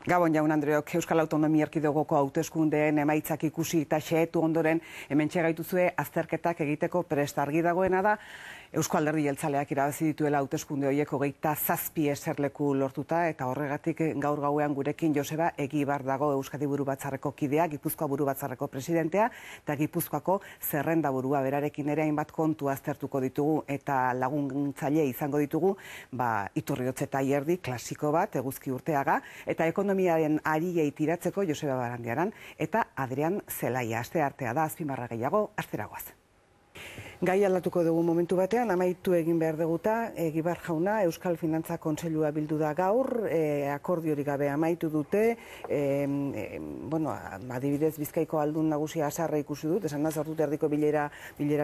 Gabon jaun Andreok, Euskal Autonomia Erkidegoko hauteskundeen emaitzak ikusi eta xehetu ondoren hementxe gaituzue azterketak egiteko prest. Argi dagoena da Eusko Alderdi Jeltzaleak irabazi dituela hauteskunde horiek 27 eserleku lortuta, eta horregatik gaur gauean gurekin Joseba Egibar dago, Euskadi Burubatzarreko kidea, Gipuzkoa Burubatzarreko presidentea eta Gipuzkoako zerrendaburua. Berarekin ere hainbat kontu aztertuko ditugu eta laguntzaile izango ditugu, Iturriotz eta Ierdi klasiko bat, Eguzki Urteaga, eta ekonomiaren ariei tiratzeko Joseba Barandiaran eta Adrian Zelaia. Asteartea da, azpimarra gehiago, asteragoaz. Gai aldatuko dugu momentu batean, amaitu egin behar duguta, Egibar jauna, Euskal Finantza Kontseilua bildu da gaur, akordiorik gabe amaitu dute, adibidez Bizkaiko aldun nagusia Asarra ikusi dut, esan da sortute erdiko bilera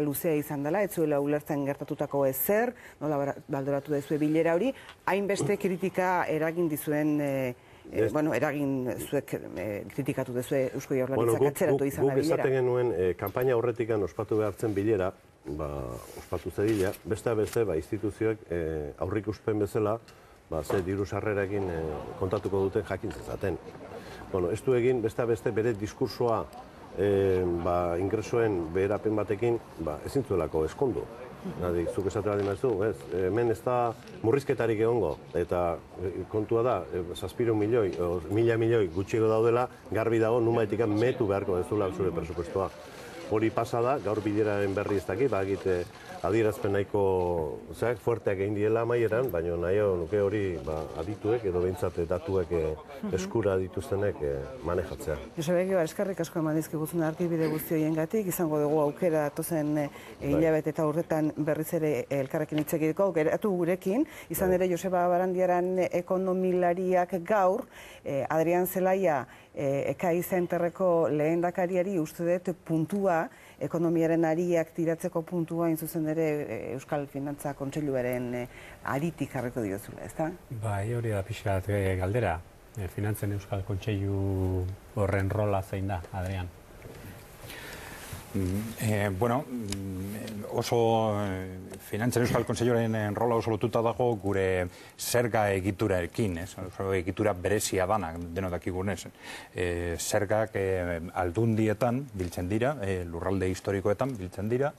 luzea izan dela, ez zuela ulertzen gertatutako ezer, nola baldoratu dezue bilera hori, hainbeste kritika eragin dizuen, zuek kritikatu dezue Eusko Jaurlaritzak atzeratu izan da bilera. Guk esaten genuen, kanpaina horretikan ospatu behartzen bilera, ospatu zedila, beste instituzioek aurrikuspen bezala, ze diru sarrerekin kontatuko duten jakin zezaten. Ez du egin, beste bere diskursoa ingresoen beherapen batekin ezin zuelako eskondu. Zuk esatu behar dimazu, hemen ez da murrizketarik egongo, eta kontua da, 700 milioi, 1000 milioi gutxiego daudela, garbi dago, numaetik metu beharko dezula zure presupuestoa. Hori pasa da, gaur bileraren berri ez dakit, adierazpen nahiko fuerteak egin diela amaieran, baina nahi nuke hori adituek edo behintzat datuek eskura dituztenek manejatzea. Joseba Egibar, eskerrik asko eman dizkiguzun arkibide guzti horiengatik, izango dugu aukera datozen hilabete eta urretan berriz ere elkarrekin hitz egiteko, aukeratu gurekin, izan ere Joseba Barandiaran ekonomilariak gaur, Adrian Zelaia Ekai Zenterreko lehendakariari uste dut puntua, ekonomiaren ariak tiratzeko puntua, zuzen ere Euskal Finantza Kontseiluaren aritik jarriko diozula, ezta? Bai, hori da pixkat galdera. Finantzen Euskal Kontseilu horren rola zein da, Adrian? Oso Finantzen Euskal Kontseiluaren rola oso lotuta dago gure zerga egiturarekin, egitura berezia dana, denok dakigunez. Zergak aldundietan biltzen dira, lurralde historikoetan biltzen dira,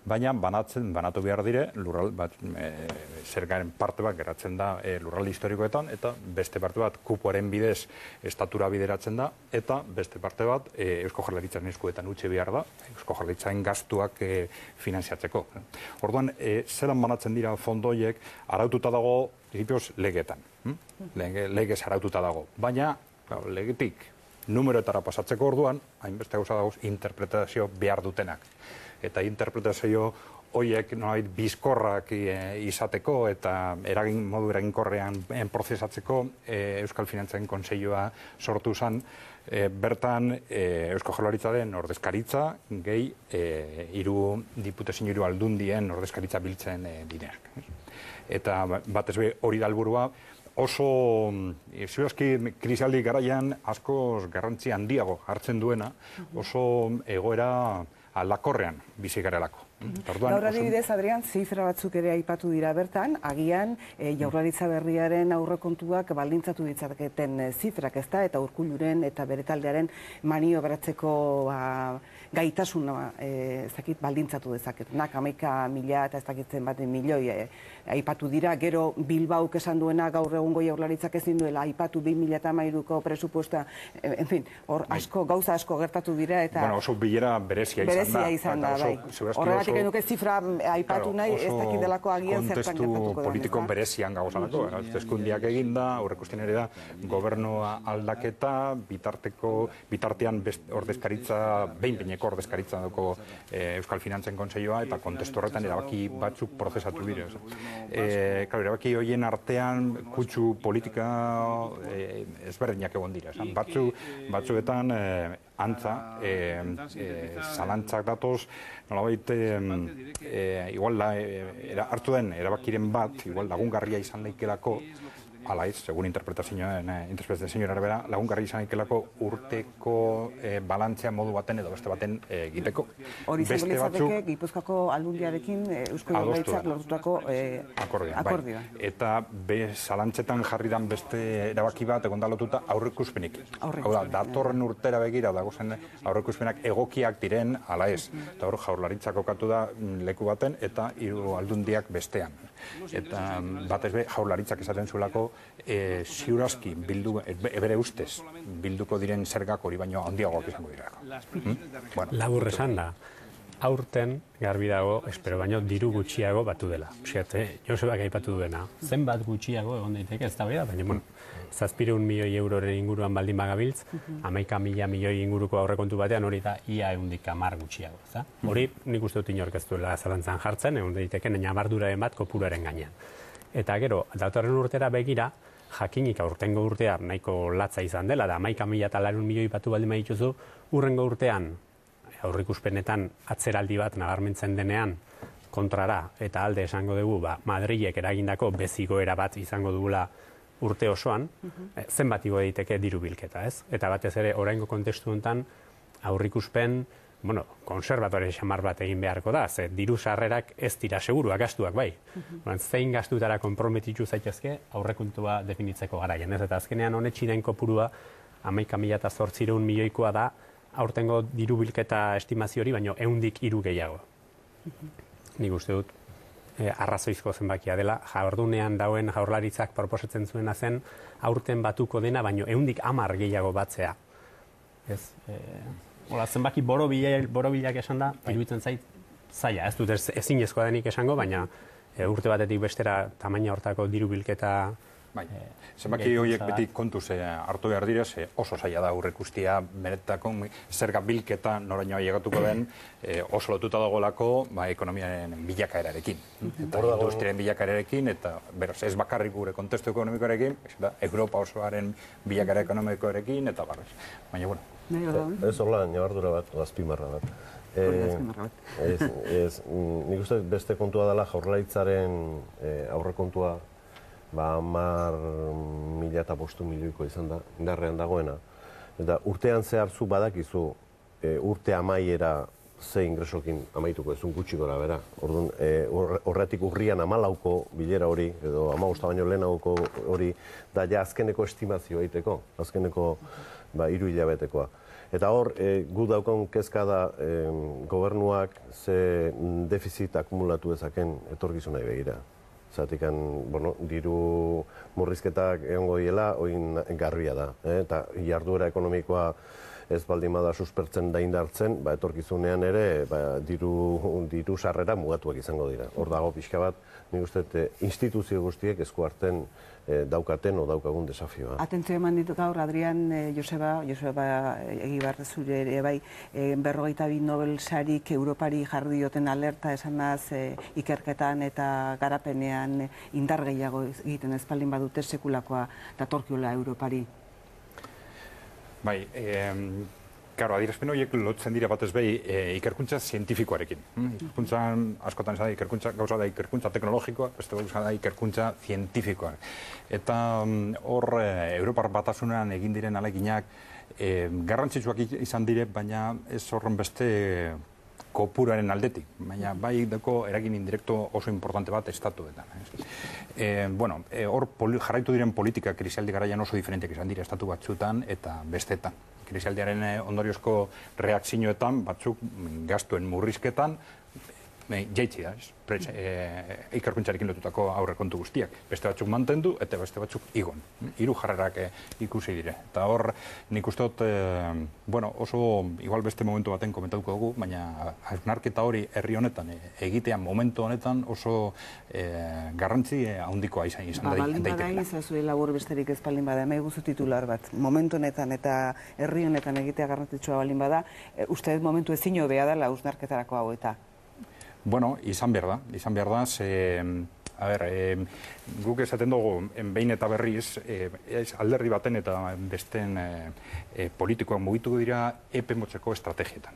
baina banatu behar dire, zergaren parte bat geratzen da lurralde historikoetan, eta beste parte bat kupoaren bidez estatura bideratzen da, eta beste parte bat Eusko Jaurlaritzaren eskuetan utzi behar da, Eusko Jaurlaritzaren gastuak finanziatzeko. Orduan, zelan banatzen dira fondoiek, araututa dago, legetan. Legez araututa dago. Baina, legetik numeroetara pasatzeko orduan, hainbeste gauza dagoz, interpretazio behar dutenak. Eta interpretazio horiek bizkorrak izateko eta modu eraginkorrean prozesatzeko Euskal Finantzen Kontseilua sortu zen, bertan Eusko Jaurlaritzaren ordezkaritza gehi diputazio hiru aldundien ordezkaritza biltzen direnak. Eta batez be hori da helburua, oso ziurazki krisialdi garaian askoz garrantzi handiago hartzen duena, oso egoera aldakorrean bizi garelako. Gaur adibidez, Adrian, zifra batzuk ere aipatu dira bertan, agian Jaurlaritza berriaren aurrekontuak baldintzatu ditzaketen zifrak, ezta, eta Urkulluren eta bere taldearen maniobratzeko gaitasuna baldintzatu dezaketenak, 11.000 eta ez dakitzen bat milioi aipatu dira, gero Bilbauk esan duena gaur egungo Jaurlaritzak ezin duela aipatu 2013ko presupuesta, en fin, hor gauza asko gertatu dira eta oso bilera berezia izan da, bai. Horregatik enuke zifra aipatu nahi, ez dakidelako agian zertan gertatuko da. Kontestu politiko berezian gauzalako, hauteskundeak eginda, aurreikusten ere da, gobernua aldaketa, bitartean ordezkaritza, behin-behineko ordezkaritza duko Euskal Finantzen Kontseilua, eta kontestu horretan erabaki batzuk prozesatu bire. Erabaki horien artean kutsu politika ezberdinak egon dira. Batzuetan antza, zalantzak datoz, nolabait, igual hartu den erabakiren bat, igual lagungarria izan leikelako, alaiz, segun interpretazioen arabera, lagungarri izan ikelako urteko balantzea modu baten edo beste baten egiteko. Hori izango litzateke Gipuzkoako Aldundiarekin Eusko Jaurlaritzak lortutako akordioa. Eta zalantzetan jarri dan beste erabaki bat egon lotuta aurreikuspenik. Hau da, datorren urtera begira dagozen aurreikuspenak egokiak diren ala ez. Eta hor Jaurlaritzak kokatu da leku baten eta hiru aldundiak bestean. Eta batez be Jaurlaritzak esaten zuelako ziurazki bere ustez bilduko diren zergak hori baino handiagoak izango dirako. Labur esan da, aurten garbi dago, espero baino diru gutxiago batu dela. Josebak aipatu duena, zenbat gutxiago egon daiteke ez da bera, baina 700 milioi euroren inguruan baldin bagabiltz, 11.000 milioi inguruko aurrekontu batean hori da ia 110 gutxiago. Hori nik uste dut inork ez duela zalantzan jartzen, egon daiteke nabarduraren bat kopuruaren gainean. Eta gero, datorren urtera begira, jakinik aurtengo urtea nahiko latza izan dela, da 11.000 milioi batu baldin badituzu, urrengo urtean aurrikuspenetan atzeraldi bat nabarmentzen denean kontrara eta alde esango dugu Madrilek eragindako bezigoera bat izango dugula urte osoan, zenbat igo daiteke diru bilketa, ez? Eta batez ere oraingo kontestu honetan aurrikuspen, konserbatore xamar bat egin beharko da, ze diru sarrerak ez dira seguruak, gastuak bai. Zein gastutara konprometitu zaitezke aurrekontua definitzeko garaian, ez? Eta azkenean honetxiren kopurua 11.800 milioikoa da, aurtengo diru bilketa estimazio hori, baino 103 gehiago. Nik uste dut, arrazoizko zenbakia dela, jaurdunean dauen Jaurlaritzak proposatzen zuena zen, aurten batuko dena, baino 110 gehiago batzea. Zenbaki borobilak esan da, iruditzen zait, zaila, ez dut ezinezkoa denik esango, baina urte batetik bestera tamaina hortako diru bilketa. Zenbaki horiek beti kontuz hartu behar dira, oso zaila da aurreikustea beretako zerga bilketa noraino ailegatuko den oso lotuta dagoelako ekonomiaren bilakaerarekin. Eta industriaren bilakaerarekin, eta beraz ez bakarrik gure kontestu ekonomikoarekin, Europa osoaren bilakaera ekonomikoarekin, eta barrez. Baina, bueno. Ez horla, nabardura bat, azpimarra bat. Nik uste beste kontua dela Jaurlaritzaren aurrekontua 10.500 milioiko izan da, indarrean dagoena. Eta urtean zehartzu badakizu urte amaiera ze ingresokin amaituko ezun gutxi gora bera. Horretik urrian 14ko bilera hori, edo 15 baino lehenagoko hori, da ja azkeneko estimazioa egiteko, azkeneko 3 hilabetekoa. Eta hor, gu daukon kezka da gobernuak ze defizit akumulatu ezaken etorkizunai begira. Zatik, diru murrizketak egongo diela, oin garbia da. Eta jarduera ekonomikoa ez baldin bada suspertzen da indartzen, etorkizunean ere diru sarrera mugatuak izango dira. Hor dago pixka bat, nik uste instituzio guztiek esku hartzen daukaten o daukagun desafioa. Atentzio eman ditu gaur, Adrian Joseba Egibar zure ere bai, 52 Nobel sarik Europari jarri dioten alerta esanaz ikerketan eta garapenean indar gehiago egiten ez baldin badute sekulakoa datorkiola Europari. Bai, Karo, adierazpen horiek lotzen dira batez behi ikerkuntza zientifikoarekin. Ikerkuntzan, askotan esan da, ikerkuntza gauza da ikerkuntza teknologikoa, beste gauza da ikerkuntza zientifikoa. Eta hor, Europar Batasunean egin diren aleginak garrantzitsuak izan dire, baina ez horren beste kopuraren aldetik, baina bai deko eragin indirekto oso importante bat estatuetan. Hor jarraitu diren politika krisialdi garaian oso diferentek izan dira estatu batzuetan eta bestetan. Krisialdiaren ondoriozko reakzioetan, batzuk gastuen murrizketan, jaitsi da, ikerkuntzarekin lotutako aurrekontu guztiak. Beste batzuk mantendu eta beste batzuk igon. Hiru jarrerak ikusi dire. Eta hor, nik uste dut, oso, igual beste momentu baten komentatuko dugu, baina hausnarketa hori herri honetan, egitea momentu honetan oso garrantzi handikoa izan daitekeela. Baldin bada izazue labur besterik ez baldin bada, guzu titular bat, momentu honetan eta herri honetan egitea garrantzitsua baldin bada, uste dut momentu ezin hobea dela hausnarketarako hau eta. Bueno, izan behar da, guk esaten dugu, behin eta berriz, alderdi baten eta besteen politikoak mugituko dira epe motzeko estrategietan.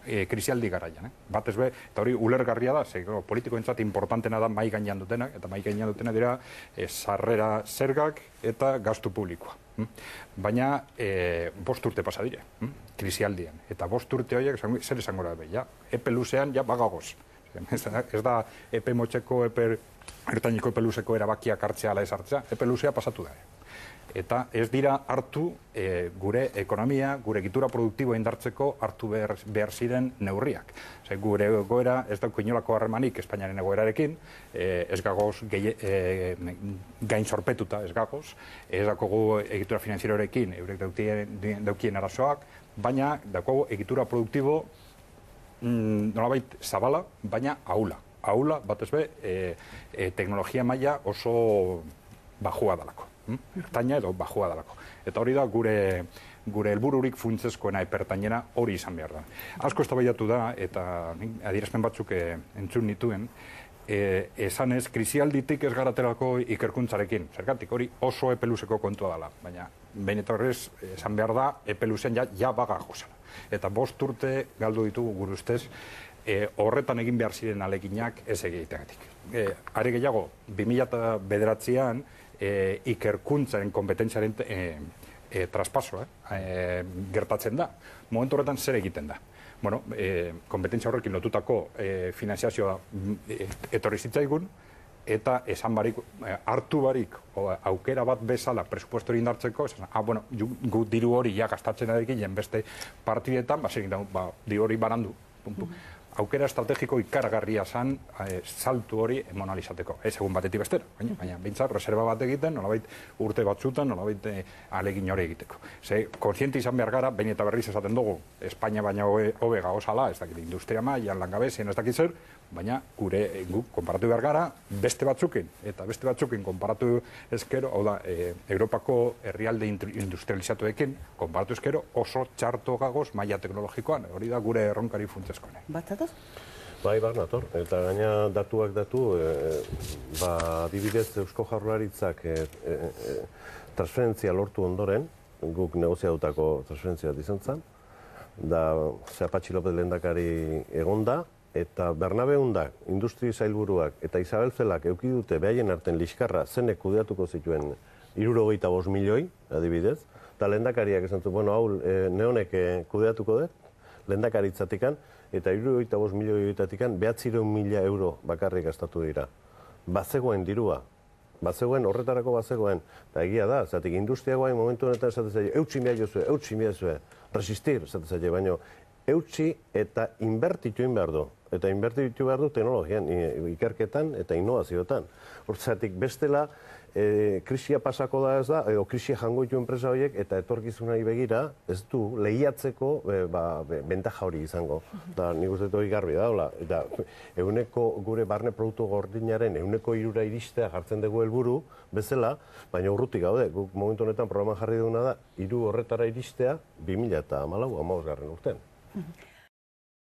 krisialdi garaian. Batez be, eta hori ulergarria da, politikoentzat importantena da mai gainean dutenak, eta mai gainean dutenak dira sarrera zergak eta gastu publikoa. Baina 5 urte pasa dire, krisialdian. Eta 5 urte horiek zer esango da, ja, epe luzean ja bagagoz. Ez da epe motxeko, epe ertainiko epe luzeko erabakiak hartzea ala ez hartzea, epe luzea pasatu da. Eta ez dira hartu gure ekonomia, gure egitura produktiboa indartzeko hartu behar ziren neurriak. Gure egoera ez dauko inolako harremanik Espainiaren egoerarekin, ez gagoz gain sorpetuta ez gagoz, ez daukogu egitura finanzierorekin eurek daukien arazoak, baina daukogu egitura produktibo nolabait zabala, baina ahula. Ahula, batez be, teknologia maila oso bajua dalako. Ertaina edo bajua dalako. Eta hori da gure helbururik funtsezkoena epertainera hori izan behar da. Asko eztabaidatu da, eta adierazpen batzuk entzun nituen, esanez, krisialditik ez garaterako ikerkuntzarekin. Zergatik, hori oso epeluzeko kontua dela. Baina, behin eta horrez, esan behar da, epeluzen ja bagago zela. Eta 5 urte galdu ditugu gure ustez, horretan egin behar ziren aleginak ez egiteagatik. Are gehiago, 2009an ikerkuntzaren kompetentziaren traspasoa gertatzen da. Momentu horretan zer egiten da? Bueno, kompetentzia horrekin lotutako finanziazioa etorri zitzaigun, eta esan barik, hartu barik, aukera bat bezala presupuesto hori indartzeko, bueno, gu diru hori ja gastatzen adekin, beste partidetan, diru hori barandu, aukera estrategiko ikaragarria zen saltu hori emonalizateko. Ez egun batetik bestera, baina bintzat, reserva bat egiten, nolabait urte batzutan, nolabait alegin hori egiteko. Kontziente izan behar gara, behin eta berriz esaten dugu, Espainia baina hobe gauzala, ez dakit industria mailan langabezien ez dakit zer, baina gure konparatu behar gara beste batzukin, eta beste batzukin konparatu ezkero, hau da, Europako herrialde industrializatuekin konparatu ezkero oso txarto gagoz maila teknologikoan, hori da gure erronkari funtsezkoene. Batzatoz? Bai, nator, eta gaina datuak datu, adibidez Eusko Jaurlaritzak transferentzia lortu ondoren, guk negoziatutako transferentzia izan zen, da Patxi López lehendakari egonda, eta Bernabeundak, industri sailburuak eta Isabel Zelak eduki dute behaien arten liskarra zenek kudeatuko zituen 75 milioi, adibidez, eta lehendakariak esan zuen, hau neonek kudeatuko dut, lehendakaritzatikan, eta 75 milioietatikan 900.000 euro bakarrik gastatu dira. Bazegoen dirua, horretarako bazegoen, eta egia da, zatik industria guain momentu honetan esaten zaila, eutxin behar jozue, resistir, esaten zaila, baina eutxi eta inbertitu behar du. Eta inbertitu behar du teknologian, ikerketan eta innovazioetan. Hortzatik bestela, krisia pasako da ez da, edo krisia jango ditu enpresa horiek, eta etorkizunari begira, ez du lehiatzeko bentaja hori izango. Eta nik uste hori garbi da, eta gure barne produktu gordinaren 3% iristea jartzen dugu helburu bezala, baina urrutik gaude, guk momentu honetan programan jarri duguna da, 3 horretara iristea 2014-15 urtean.